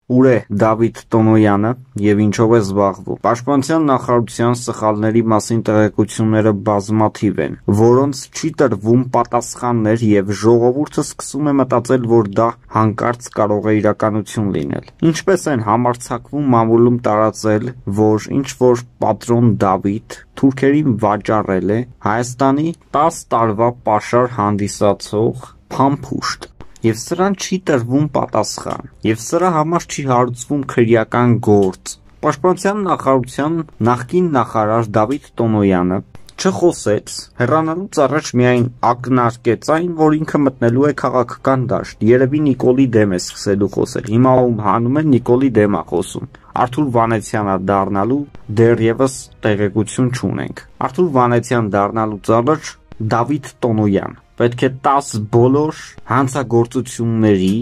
Ուր է Դավիթ Տոնոյանը եւ ինչով է զբաղվում։ Պաշտպանության նախարարության սխալների մասին տեղեկությունները բազմաթիվ են, որոնց չի տրվում պատասխաններ եւ ժողովուրդը սկսում է մտածել, որ դա հանկարծ կարող է իրականություն լինել։ Ինչպես են համարձակվում մամուլում տարածել, որ ինչ որ պատրոն Դավիթ թուրքերին վաճառել է Հայաստանի 10 տարվա պաշար հանդիսացող փամփուշտ։ Եվ սրան չի տրվում պատասխան, եւ սրա համար չի հարուցվում քրեական գործ։ Պաշտպանության նախարարության նախկին նախարար Դավիթ Տոնոյանը չխոսեց, հեռանալուց առաջ միայն ակնարկեց այն, որ ինքը մտնելու է քաղաքական դաշտ, երևի Նիկոլի դեմ է սկսելու խոսել, հիմա ում հանում են Նիկոլի դեմ է խոսում, Արթուր Վանեցյանը դառնալու դեռևս տեղեկություն չունենք, Արթուր Վանեցյան դառնալուց առաջ Դավիթ Տոնոյան պետք է 10 բոլոր հանցագործությունների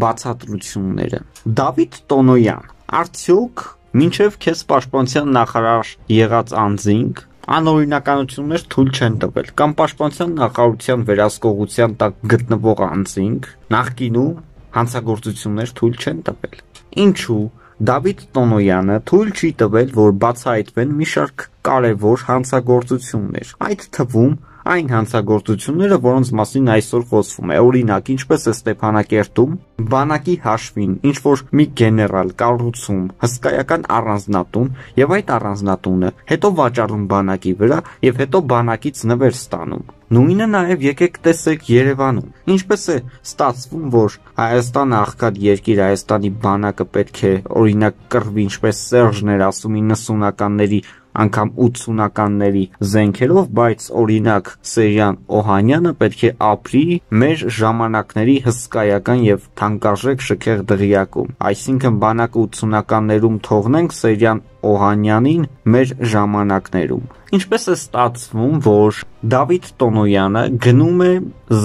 բացատրությունները։ Դավիթ Տոնոյան, արդյոք մինչև քեզ պաշտպանության նախարար եղած անձինք անօրինականություններ թույլ չեն տվել կամ պաշտպանության նախարարության վերահսկողության տակ գտնվող անձինք նախկինում հանցագործություններ թույլ չեն տվել։ Ինչու Դավիթ Տոնոյանը թույլ չի տվել, որ բացահայտվեն մի շարք կարևոր հանցագործություններ, այդ թվում այն հանցագործությունները, որոնց մասին այսօր խոսվում է, օրինակ, ինչպես է Ստեփանակերտում բանակի հաշվին ինչ որ մի գեներալ կառուցում հսկայական առանձնատուն եւ այդ առանձնատունը հետո վաճառում բանակի վրա եւ հետո բանակից նվեր ստանում։ Նույնը նաեւ եկեք տեսեք Երևանում։ Ինչպես է ստացվում, որ Հայաստանը աղքատ երկիր, Հայաստանի բանակը պետք է օրինակ կռվի, ինչպես Սերժն էր ասում 90-ականների անգամ 80-ականների զենքերով, բայց օրինակ Սերյան Օհանյանը պետք է ապրի մեր ժամանակների հսկայական եւ թանկարժեք շքեղ դղյակում։ Այսինքն բանակը 80-ականներում թողնենք Սերյան Օհանյանին մեր ժամանակներում։ Ինչպես է ստացվում, որ Դավիթ Տոնոյանը գնում է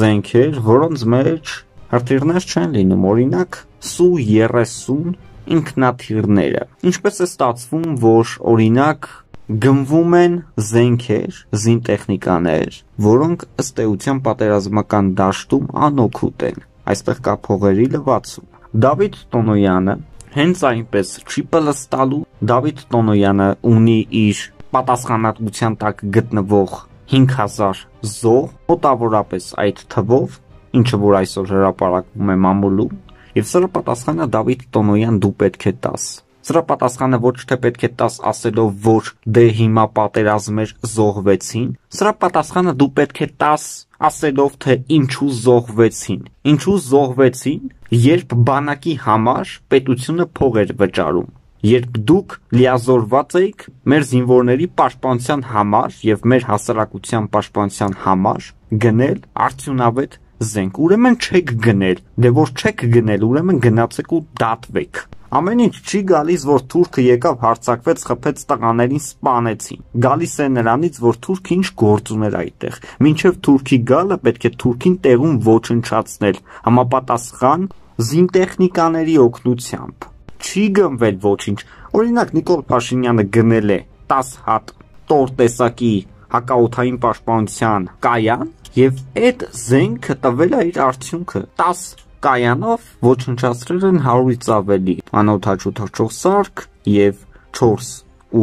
զենքեր, որոնց մեջ հրթիռներ չեն լինում, օրինակ Սու-30 ինքնաթիռները։ Ինչպես է ստացվում, որ օրինակ գնվում են զենքեր, զինտեխնիկաներ, որոնք ըստ էության պատերազմական դաշտում անօգուտ են։ Այստեղ կա փողերի լվացում։ Դավիթ Տոնոյանը հենց այնպես չի պլստալու։ Դավիթ Տոնոյանը ունի իր պատասխանատվության տակ գտնվող 5000 զոհ, մոտավորապես այդ թվով, ինչը որ այսօր հրապարակվում է մամուլում, եւ սրա պատասխանը Դավիթ Տոնոյան դու պետք է տաս։ Սրա պատասխանը ոչ թե պետք է տաս ասելով, որ դե հիմա պատերազմեր զոհվեցին, սրա պատասխանը դու պետք է տաս ասելով, թե ինչու զոհվեցին։ Ինչու զոհվեցին, երբ բանակի համար պետությունը փող էր վճարում, երբ դուք լիազորված էիք մեր զինվորների պաշտպանության համար եւ մեր հասարակության պաշտպանության համար գնել արդյունավետ զենք։ Ուրեմն չեք գնել, դե որ չեք գնել, ուրեմն գնացեք ու դատվեք։ Ամեն ինչ չի գալիս, որ թուրքը եկավ, հարձակվեց, խփեց տղաներին, սպանեցին։ Գալիս է նրանից, որ թուրքը ինչ գործ ուներ այդտեղ։ Մինչև թուրքի գալը պետք է թուրքին տեղում ոչնչացնել, համապատասխան զինտեխնիկաների օգնությամբ։ Չի գնվել ոչինչ։ Օրինակ Նիկոլ Փաշինյանը գնել է 10 հատ տոր տեսակի հակաօդային պաշտպանության կայան եւ այդ զենքը տվել է իր արդյունքը 10 կայանով ոչնչացրել են 100-ից ավելի անօդաչու թռչող սարք եւ 4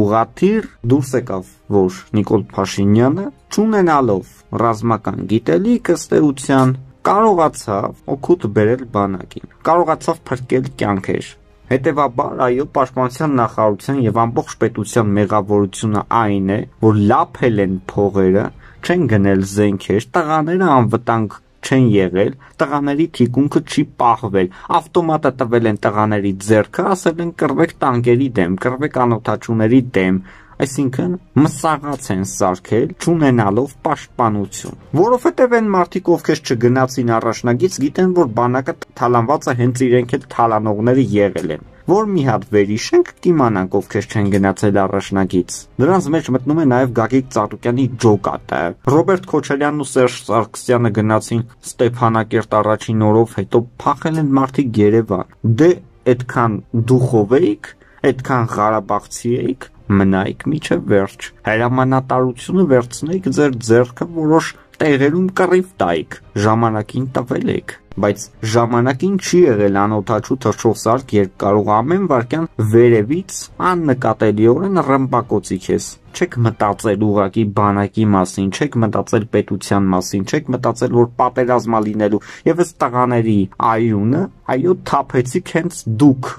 ուղաթիռ։ Դուրս եկավ, որ Նիկոլ Փաշինյանը չունենալով ռազմական գիտելիք ըստ էության կարողացավ օգուտ բերել բանակին, կարողացավ փրկել կյանքեր։ Հետևաբար, այո, պաշտպանության նախարարության եւ ամբողջ պետության մեղավորությունը այն է, որ լափել են փողերը, չեն գնել զենքեր, տղաները անվտանգ չեն եղել, տղաների թիկունքը չի պահվել, ավտոմատը տվել են տղաների ձեռքը, ասել են կռվեք տանկերի դեմ, կռվեք անօդաչուների դեմ, այսինքն մսաղաց են սարքել, չունենալով պաշտպանություն։ Որովհետև այն մարդիկ, ովքեր չգնացին առաջնագից, գիտեն, որ բանակը թալանված է, հենց իրենք էլ թալանողները եղել են։ Որ մի հատ վերիշենք կիմանանք, ովքեր չեն գնացել առաջնագից։ Նրանց մեջ մտնում է նաև Գագիկ Ծառուկյանի ջոկատը։ Ռոբերտ Քոչարյանն ու Սերժ Սարգսյանը գնացին Ստեփանակերտ առաջին օրով, հետո փախել են մարդիկ Երևան։ Դե այդքան դուխով էիք, այդքան Ղարաբաղցի էիք, մնայիք միջև վերջ։ Հրամանատարությունը վերցնեիք ձեր ձեռքը, որոշ տեղերում կռիվ տայիք, ժամանակին տվել եք։ Բայց ժամանակին չի եղել անօդաչու թռչող սարք, երբ կարող ամեն վարքյան վերևից աննկատելիորեն ռմբակոծի քեզ։ Չեք մտածել ուղակի բանակի մասին, չեք մտածել պետության մասին, չեք մտածել, որ պատերազմա լինելու, եւ այս տղաների այունը, այո, թափեցիք հենց դուք։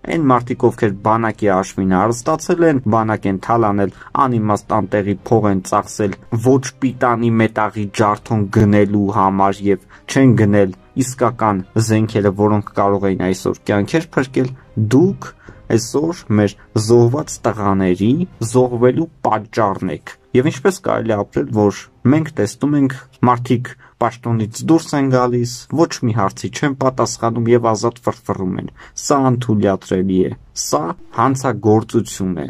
Այն մարդիկ, ովքեր բանակի հաշվին հարստացել են, բանակ են թալանել, անիմաստ անտեղի փող են ծախսել ոչ պիտանի մետաղի ջարդոն գնելու համար եւ չեն գնել իսկական զենքերը, որոնք կարող էին այսօր կյանքեր փրկել, դուք այսօր մեր զոհված տղաների զոհվելու պատճառն եք։ Եվ ինչպես կարելի է ապրել, որ մենք տեսնում ենք մարդիկ պաշտոնից դուրս են գալիս, ոչ մի հարցի չեն պատասխանում եւ ազատ ֆրֆռում են։ Սա անթույլատրելի է, սա հանցագործություն է։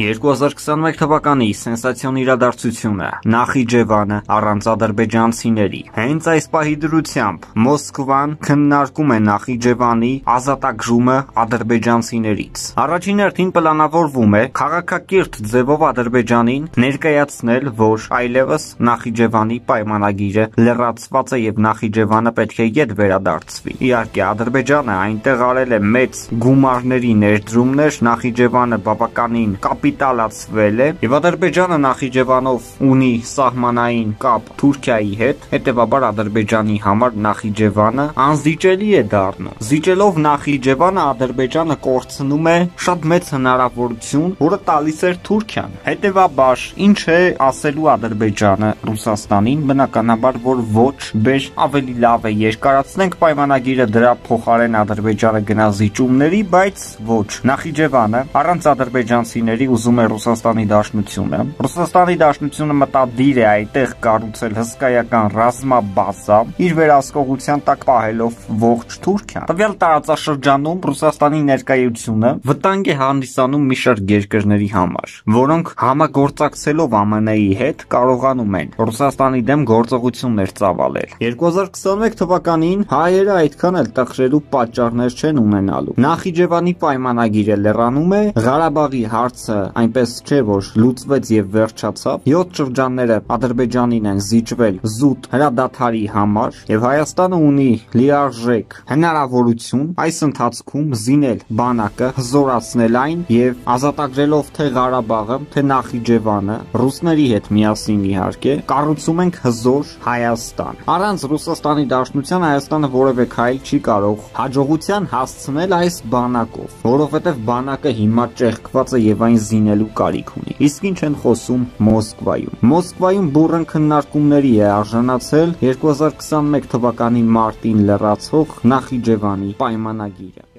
2021 թվականի սենսացիոն իրադարձությունը Նախիջևանը առանց ադրբեջանցիների։ Հենց այս պահի դրությամբ Մոսկվան քննարկում է Նախիջևանի ազատագրումը ադրբեջանցիներից։ Առաջին հերթին պլանավորվում է քաղաքակիրթ ձևով Ադրբեջանին ներկայացնել, որ այլևս Նախիջևանի պայմանագիրը լրացված է եւ Նախիջևանը պետք է ետ վերադարձվի։ Իհարկե, Ադրբեջանը այնտեղ արել է մեծ գումարների ներդրումներ, Նախիջևանը բավականին կապիտալացվել է եւ Ադրբեջանը Նախիջևանով ունի սահմանային կապ Թուրքիայի հետ, հետեւաբար Ադրբեջանի համար Նախիջևանը անզիջելի է դառնում։ Զիջելով Նախիջևանը Ադրբեջանը կորցնում է շատ մեծ հնարավորություն, որը տալիս էր Թուրքիան։ Հետեւաբար ինչ է ասելու Ադրբեջանը Ռուսաստանին, բնականաբար որ ոչ, բեր ավելի լավ է երկարացնենք պայմանագիրը, դրա փոխարեն Ադրբեջանը գնա զիջումների, բայց ոչ։ Նախիջևանը առանց ադրբեջանցիների ուզում է Ռուսաստանի Դաշնությունը։ Ռուսաստանի Դաշնությունը մտադիր է այդտեղ կառուցել հսկայական ռազմաբազա, իր վերահսկողության տակ պահելով ողջ Թուրքիան։ Տվյալ տարածաշրջանում Ռուսաստանի ներկայությունը վտանգ է հանդիսանում մի շարք երկրների համար, որոնք համագործակցելով ԱՄՆ-ի հետ կարողանում են Ռուսաստանի դեմ գործողություններ ծավալել։ 2021 թվականին հայերը այդքան էլ տխրելու պատճառներ չեն ունենալու։ Նախիջևանի պայմանագիրը լրանում է, Ղարաբաղի հարցը այնպես չէ, որ լուծվեց եւ վերջացավ։ 7 շրջանները Ադրբեջանին են զիջվել զուտ հրադադարի համար եւ Հայաստանը ունի լիարժեք հնարավորություն այս ընթացքում զինել բանակը, հզորացնել այն եւ ազատագրելով թե Ղարաբաղը, թե Նախիջևանը, ռուսների հետ միասին իհարկե, կառուցում ենք հզոր Հայաստան։ Առանց Ռուսաստանի Դաշնության Հայաստանը որևէ քայլ չի կարող հաջողության հասցնել այս բանակով, որովհետեւ բանակը հիմա ճեղքված է եւ այն զինելու կարիք ունի։ Իսկ ինչ են խոսում Մոսկվայում։ Մոսկվայում բուրըն քննարկումների է արժանացել 2021 թվականի մարտին լրացող Նախիջևանի պայմանագիրը։